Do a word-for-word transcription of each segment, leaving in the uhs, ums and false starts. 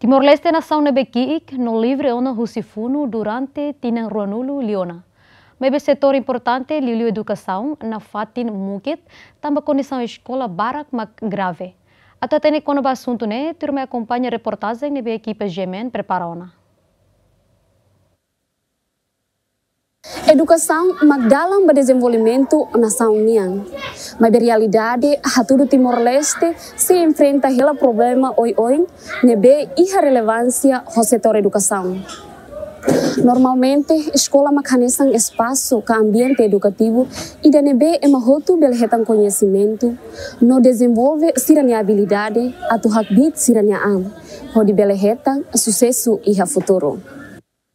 Timor-Leste nasaun ne'ebé ki'ik no livre ona husi funu durante tinan ruanulu liu ona. Maibé setór importante liuliu edukasaun nafatin mukit tanba kondisaun eskola barak mak grave. Atu hatene kona-ba asuntu ne'e, tuirmai akompaña reportajen ne'ebé ekipa G M N prepara ona. Edukasaun mak dalan ba dezenvolvimentu nasaun nian. Maibé realidade hatudu Timor-Leste sei enfrenta hela problema oioin ne'ebé iha relevánsia ho setór edukasaun. Normalmente, eskola mak hanesan espasu ka ambiente edukativu ida ne'ebé ema hotu bele hetan koñesimentu no dezenvolve sira-nia abilidade atu hakbiit sira-nia an, hodi bele hetan susesu iha futuru.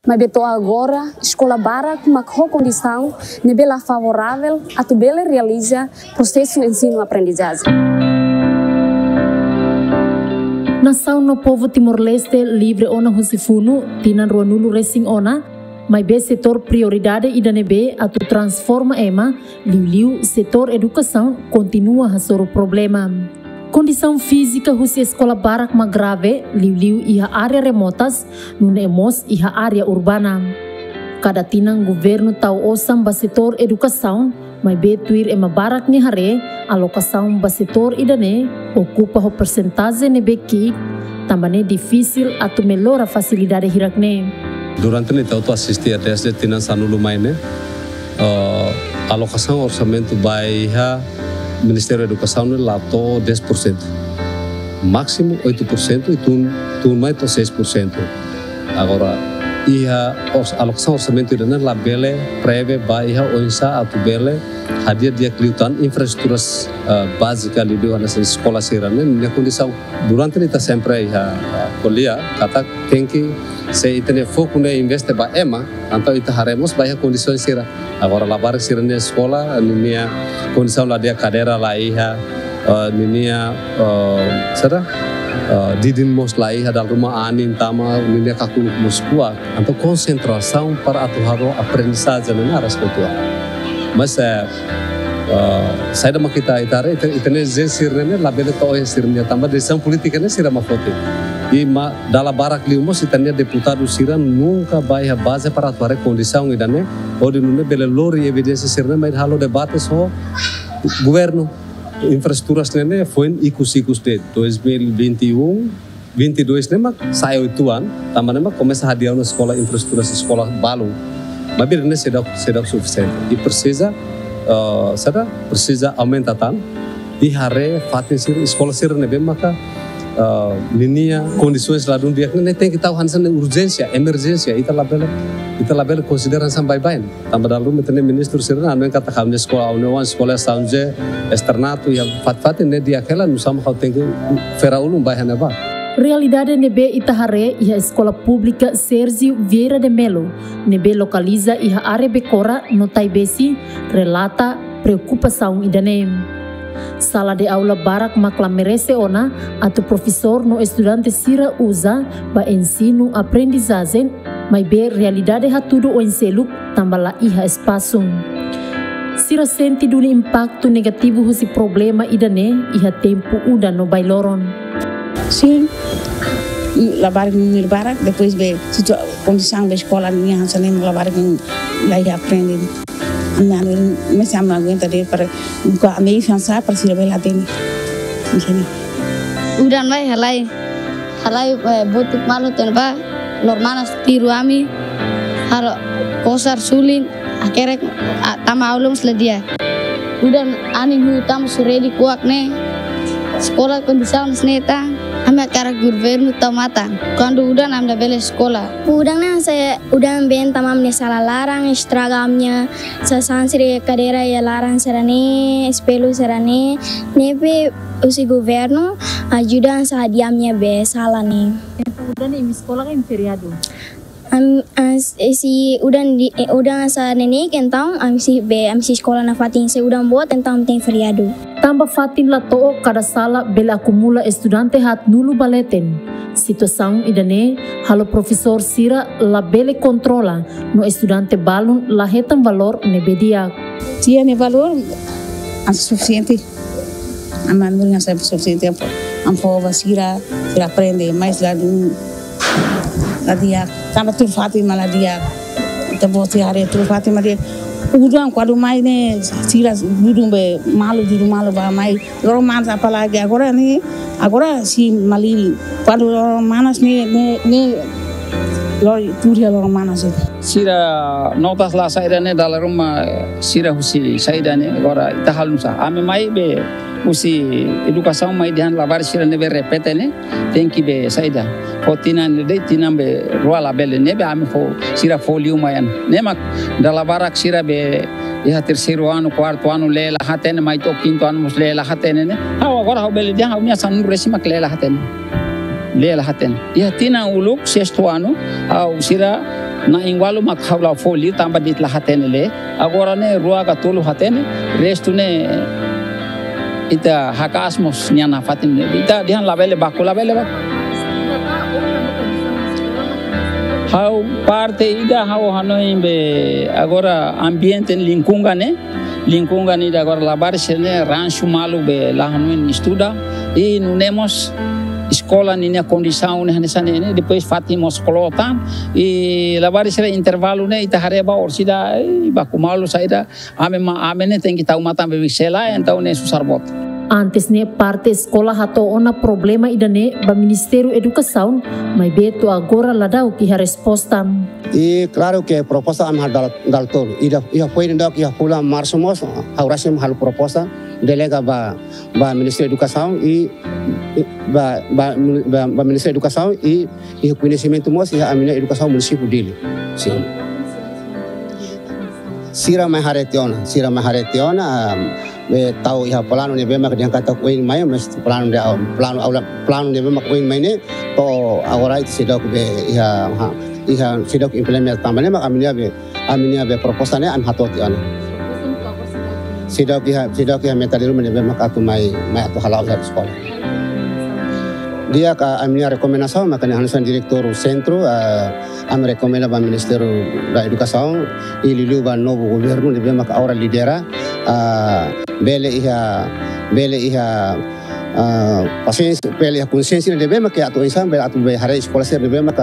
Maibé to'o agora, eskola barak mak ho kondisaun ne'ebé la favoravel atu bele realiza prosesu ensinu-aprendizajen. Nasaun no povu Timor-Leste livre ona husi funu tinan ruanulu resin ona, maibé setór prioridade ida ne'ebé atu transforma ema, liuliu setór edukasaun, kontinua hasoru problema. Kondisaun fízika husi eskola barak mak grave, liuliu iha área remotas, nune'e mós iha área urbana. Kada tinan governu tau osan ba setór edukasaun, maibé tuir ema barak nia haree, alokasaun ba setór ida-ne'e okupa ho persentajen ne'ebé ki'ik, tanba ne'e difisil atu mellora fasilidade hirak-ne'e. Durante ne'e ita hotu asiste, desde tinan sanulu mai ne'e, eh, alokasaun orsamentu ba iha Ministériu Edukasaun ne'e la to'o dez por cento. Másimu oito por cento i tun, tun mai to'o seis por cento. Agora, iha ors-, alokasaun orsamentu ida-ne'e labele prevee ba iha oinsá atu bele hadi'a di'ak liután infraestrutura, eh, bázika liuliu hanesan eskola sira-ne'e, nia kondisaun. Durante ne'e ita sempre iha, eh, ko'alia katak tenke, se ita-nia foku ne'e investe ba ema, entaun ita haree mós ba iha kondisaun sira. Agora labarik sira-nia eskola, ninia kondisaun la di'ak, kadeira la iha, eh, ninia, eh, saida, eh, didin mós la iha, dala ruma anin tama, ninia kakuluk mós kuak. Entaun konsentrasaun para atu halo aprendizajen ne'e naras uitoan. Mas, eh, eh, saida mak ita, ita haree, ita, ita-nia jén sira-ne'e labele to'o iha sira-nia, tanba desizaun polítika ne'e sira mak foti. I ma dala barak liu mós ita-nia deputadu sira nunka bá iha baze para atu haree kondisaun ida-ne'e, hodi nune'e bele lori evidénsia sira-ne'e mai halo debate ho governu. Infraestruturas ne'e ne'e foin ikus-ikus de'it, dois mil e vinte e um, vinte e dois ne'e mak sa'e uitoan, tanba ne'e mak komesa hadi'a ona eskola, infraestruturas eskola balun. Maibé ne'e seidauk, seidauk sufisiente. I presiza, eh, saida, presiza aumenta tan. I haree fatin sira, eskola sira ne'ebé maka, eh, ninia kondisaun ladún di'ak ne'e, ne'e tenke tau hanesan urjénsia, emerjénsia, ita labele, ita labele konsidera hanesan baibain. Tanba dala ruma ita-nia ministru sira-ne'e hanoin katak ha'u-nia eskola, ha'u-nia oan eskola São José, Externato, iha fatin-fatin ne'e di'ak hela, nusá mak ha'u tenke fera ulun bá iha ne'ebá. Realidade ne'ebé ita haree iha Eskola Públika Sérgio Vieira de Mello, ne'ebé lokaliza iha área Becora no Taibesi, relata preokupasaun ida-ne'e. Sala de aula barak mak la merese ona atu profesór no estudante sira uza ba ensinu-aprendizajen, maibé realidade hatudu oin seluk tanba la iha espasu. Sira sente duni impaktu negativu husi problema ida-ne'e iha tempu udan no bailoron. Sin, labarik númeru barak, depois be situa-, kondisaun be eskola nian hanesan ne'e, labarik la iha aprende. Ami anu, ami sei aguenta de'it para, ami sei hanesan para sira bele hatene. Hanesan ne'e. Udan mai halai. Halai, eh, botuk malu tan ba, lormanas tiru ami, halo kosar sulin, hakerek, ah, tama aula mós la di'ak. Udan anin huu tama suredi kuak ne'e, eskola kondisaun hanesan ne'e tan, ami hakarak governu tau matan. Kuandu udan ami labele eskola. Udan ne'e hanesan udan been tama ami-nia sala laran, estraga ami-nia sasán sira, kadeira iha laran sira-ne'e, espellu sira-ne'e, ne'ebé husi governu ajuda hanesan hadi'a ami-nia be sala ne'e. Entaun udan ne'e imi eskola ka imi feriadu? Am, as, eh, se udan di, eh, udan hanesan ne'e, entaun ami sei be, ami sei eskola nafatin, se udan boot, entaun ami tenke feriadu. Tanba fatin la to'o, kada sala bele akumula estudante haatnulu ba leten. Situasaun ida-ne'e halo profesór sira labele kontrola, no estudante balun la hetan valór ne'ebé di'ak. Tiha nia valór, hanesan sufisiente. Ami hanorin hanesan sufisiente, ami fó, ami fó ba sira, sira aprende, mas ladún La di'ak, tanba tuur fatin mak la di'ak. Ita-boot sira haree tuur fatin mak la di'ak. Udan kuandu mai ne'e sira dudu be malu, dudu malu ba mai. Loron manas apalagi agora ne'e, agora sei malili. Kuandu loron manas ne'e, ne'e, ne'e loron tuur iha loron manas ne'e. Sira notas la saida ne'e dala ruma sira husi saida ne'e agora ita halo nusá. Ami mai be husi edukasaun mai dehan labarik sira ne'ebé repete ne'e tenke be saida. Fó tinan de'it, tinan be rua labele ne'ebé ami fó, sira fó liu mai an. Ne'e mak dala barak sira be iha terseiru anu, kuartu anu lee la hatene, mai to'o kintu anu mós lee la hatene ne'e. Ha'u agora ha'u bele dehan ha'u-nia sanulu-resin mak lee la hatene. Lee la hatene. Iha tinan uluk sestu anu, ha'u sira na'in-ualu mak ha'u la fó liu tanba de'it la hatene lee. Agora ne'e rua ka tolu hatene, restu ne'e ita haka'as mós nia nafatin. Ita dehan labele baku, labele baku. Ha'u parte ida ha'u hanoin be agora ambiente lingkungan ne'e, lingkungan ida agora labarik sira ne'e ransu malu be la hanoin estuda, i nune'e mós eskola ninia kondisaun ne'e hanesan ne'e, depois fatin mós klotan, i labarik sira intervalu ne'e ita haree ba orsida, i baku malu saida, ami ma, ami ne'e tenke tau matan be sela, entaun ne'e susar boot. Antes ne'e parte eskola hato'o ona problema ida-ne'e ba Ministériu Edukasaun, maibé to'o agora la daudauk iha resposta. I klaru ke proposta ami halo dala, dala tolu. Ida, iha foin daudauk iha fulan Marsu mós, ha'u rasik halo proposta, delega ba, ba Ministériu Edukasaun i, i ba, ba, ba, ba Ministériu Edukasaun i, i koñesimentu mós iha ami-nia edukasaun munisípiu Dili. Sin. Sira mai haree tiha ona, sira mai haree tiha ona, ah, be tau iha planu ne'ebé mak dehan katak oin mai, mas planu de, planu aula, planu ne'ebé mak oin mai ne'e, to'o agora ita seidauk be iha, ha, iha seidauk implementa tanba ne'e mak ami-nia be, ami-nia be proposta ne'e ami hato'o tiha ona. Seidauk iha, seidauk iha meta-ruma ne'ebé mak atu mai, mai atu hala'o iha eskola. Di'ak, ami-nia rekomendasaun mak ne'e hanesan diretór sentru, ah, ami rekomenda ba Ministériu da Edukasaun, i liuliu ba novu governu ne'ebé mak agora lidera, ah, bele iha, bele iha, ah, pasiénsia, bele iha konsiénsia ne'ebé mak atu oinsá, bele atu be haree eskola sira ne'ebé mak,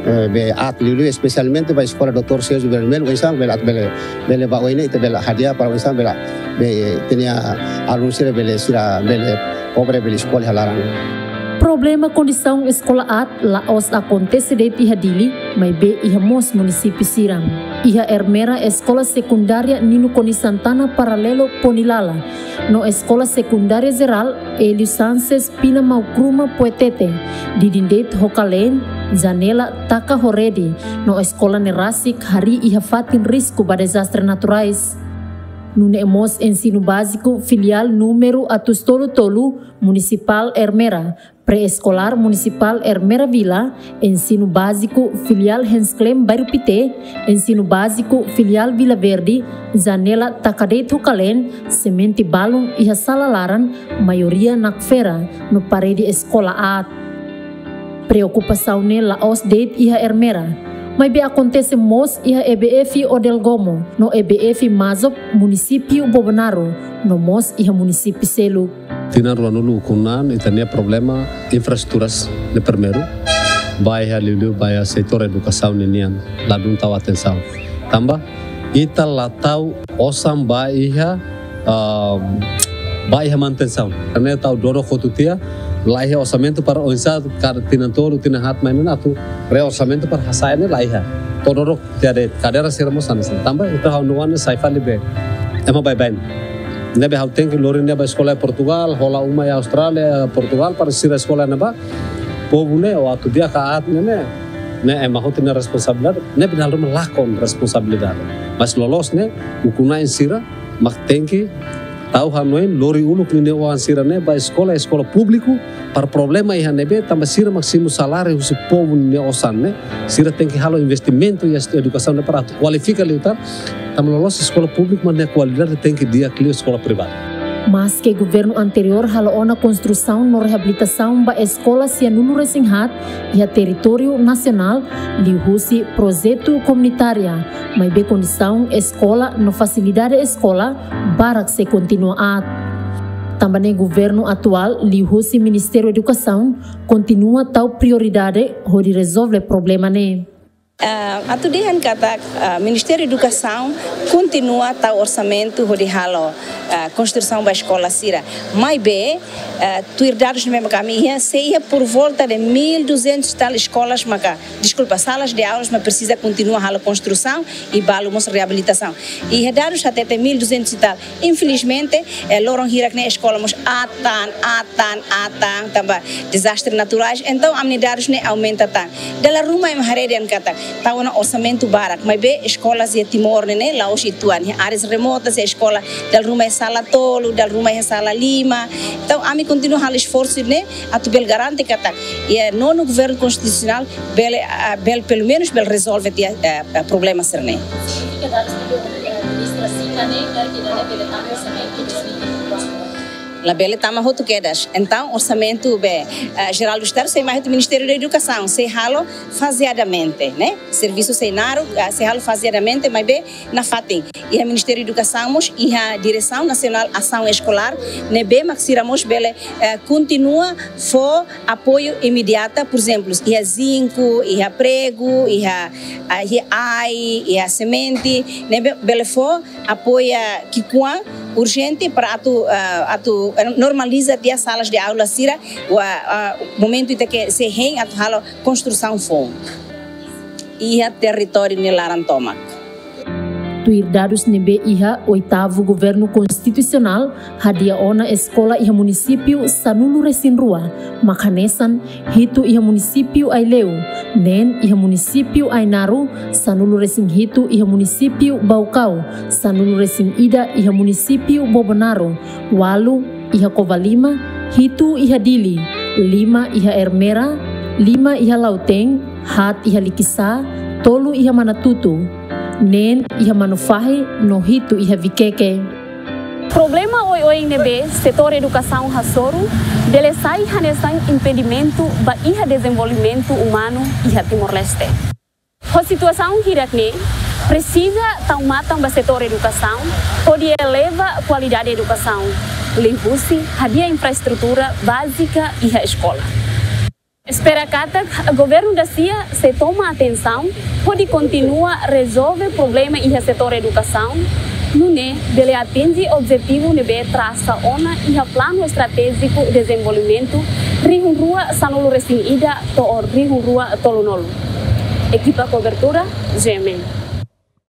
eh, be aat liuliu, espesialmente ba eskola Doutór Sérgio Vermelho, oinsá, bele atu bele, bele ba oin ne'e, ita bele hadi'a para oinsá, bele, be, ita-nia alunu sira bele, sira bele kobre bele eskola iha laran. Problema kondisaun eskola aat la'ós akontese de'it iha Dili, maibé iha mós munisípiu sira. Iha Ermera Eskola Sekundária Nino Konis Santana Paralelo Ponilala, no Eskola Sekundária Jerál Hélio Sanches Pina Maukruma Puetete, didin de'it ho kaleen, janela taka ho rede, no eskola ne'e rasik harii iha fatin risku ba dezastre naturais. Nune'e mós Ensinu Báziku Filiál númeru atus tolu tolu, Munisipál Ermera, Pré-Eskolár Munisipál Ermera Vila, Ensinu Báziku Filiál Hans Klem Bairru Pité, Ensinu Báziku Filiál Vila Verde, janela taka de'it ho kaleen, semente balun iha sala laran, maioria nakfera, no parede eskola aat. Preokupasaun ne'e la'ós de'it iha Ermera, maibé akontese mós iha E B F Odelgomo, no E B F Mazop, munisípiu Bobonaro, no mós iha munisípiu seluk. Tinan ruanulu ukun an ita-nia problema infraestruturas ne'e primeiru, ba iha liuliu ba iha setór edukasaun ninian, ladún tau atensaun. Tanba ita la tau osan ba iha, ah, ba iha manutensaun. Karena tau dodok hotu tiha, la iha orsamentu para oinsá kada tinan tolu, tinan haat mai ne'e atu reorsamentu para hasa'e ne'e la iha. To'o dodok tiha de'it, kadeira sira mós hanesan. Tanba ita ha'u-nia oan ne'e sai fali be ema baibain. Ne'ebé ha'u tenke lori nia ba eskola iha Portugal, hola uma iha Austrália, Portugal, para sira eskola ne'ebá. Povu ne'e, o atu di'ak ka aat ne'e, ne'e, ne'e ema hotu nia responsabilidade, ne'ebé dala ruma lakon responsabilidade. Mas loloos ne'e, ukun-na'in sira mak tenke tau hanoin, lori uluk ninia oan sira ne'e ba eskola, eskola públiku, para problema iha ne'ebé, tanba sira mak simu saláriu husi povu nia osan ne'e, sira tenke halo investimentu iha edukasaun ne'e para atu kualifika liután, tanba loloos eskola públiku mak nia kualidade tenke di'ak liu eskola privadu. Maske governu anteriór halo ona konstrusaun no reabilitasaun ba eskola sianulu-resin-haat iha territóriu nasionál, liuhusi projetu komunitária, maibé kondisaun eskola no fasilidade eskola barak sei kontinua aat. Tanba ne'e governu atuál liuhusi Ministériu Edukasaun kontinua tau prioridade hodi rezolve problema ne'e. Ah, atu dehan katak, ah, Ministériu Edukasaun kontinua tau orsamentu hodi halo, ah, konstrusaun ba eskola sira. Maibé, ah, tuir dadus ne'ebé mak ami iha, sei iha por volta de mil duzentos e tal eskolas maka, deskulpa, salas de aulas mak presiza kontinua halo konstrusaun i balu mós reabilitasaun. Iha dadus hatete mil duzentos e tal. Infelizmente, eh, loron hirak ne'e eskola mós atan, atan, atan, tanba dezastre naturais. Entaun, ami-nia dadus ne'e aumenta tan. Dala ruma ema haree dehan katak tau ona orsamentu barak, maibé eskolas iha Timor ne'e, ne'e la'ós uitoan. Iha áreas remotas, iha eskola dala ruma iha sala tolu, dala ruma iha sala lima. Entaun, ami kontinua halo esforsu ne'e atu bele garante katak iha nonu governu konstitusionál bele, ah, bele pelumenus bele rezolve tiha, eh, eh, problema sira-ne'e. Signifika dadus ne'ebé administra sira-ne'e, karik ida-ne'e bele tama orsamentu dois mil e vinte e quatro? Labele tama hotu kedas. Entaun, orsamentu be, eh, jerál do Estadu sei mai hotu Ministériu da Edukasaun, sei halo fazeadamente, ne'e? Servisu sei naruk, ah, sei halo fazeadamente, maibé nafatin. Iha Ministériu Edukasaun mós iha Diresaun Nasionál Asaun Eskolár, ne'ebé mak sira mós bele, eh, kontinua fó apoiu imediata, por ezemplu, iha zinku, iha pregu, iha, ah, iha ai, iha semente, ne'ebé bele fó apoiu ki'ikoan urjente para atu, ah, atu normaliza tiha salas de aula sira, wa, ah, momentu ita ke sei hein atu halo konstrusaun foun iha territóriu nia laran tomak. Tuir dadus ne'ebé iha oitavu governu konstitusionál hadi'a ona eskola iha munisípiu sanulu-resin-rua, mak hanesan hitu iha munisípiu Aileu, neen iha munisípiu Ainaro, sanulu-resin-hitu iha munisípiu Baucau, sanulu-resin-ida iha munisípiu Bobonaro, ualu iha Covalima, hitu iha Dili, lima iha Ermera, lima iha Lautém, haat iha Likisá, tolu iha Manatuto, neen iha Manufahi, no hitu iha Viqueque. Problema oioin ne'ebé setór edukasaun hasoru bele sai hanesan impedimentu ba iha dezenvolvimentu umanu iha Timor-Leste. Ho situasaun hirak-ne'e, presiza tau matan ba setór edukasaun hodi eleva kualidade edukasaun, liuhusi hadi'a infraestrutura bázika iha eskola. Espera katak governu dasia sei toma atensaun hodi kontinua rezolve problema iha setór edukasaun, nune'e bele atinje objetivu ne'ebé trasa ona iha Planu Estratéjiku Dezenvolvimentu rihun rua sanulu-resin-ida to'o rihun rua tolunulu. Ekipa kobertura, G M N.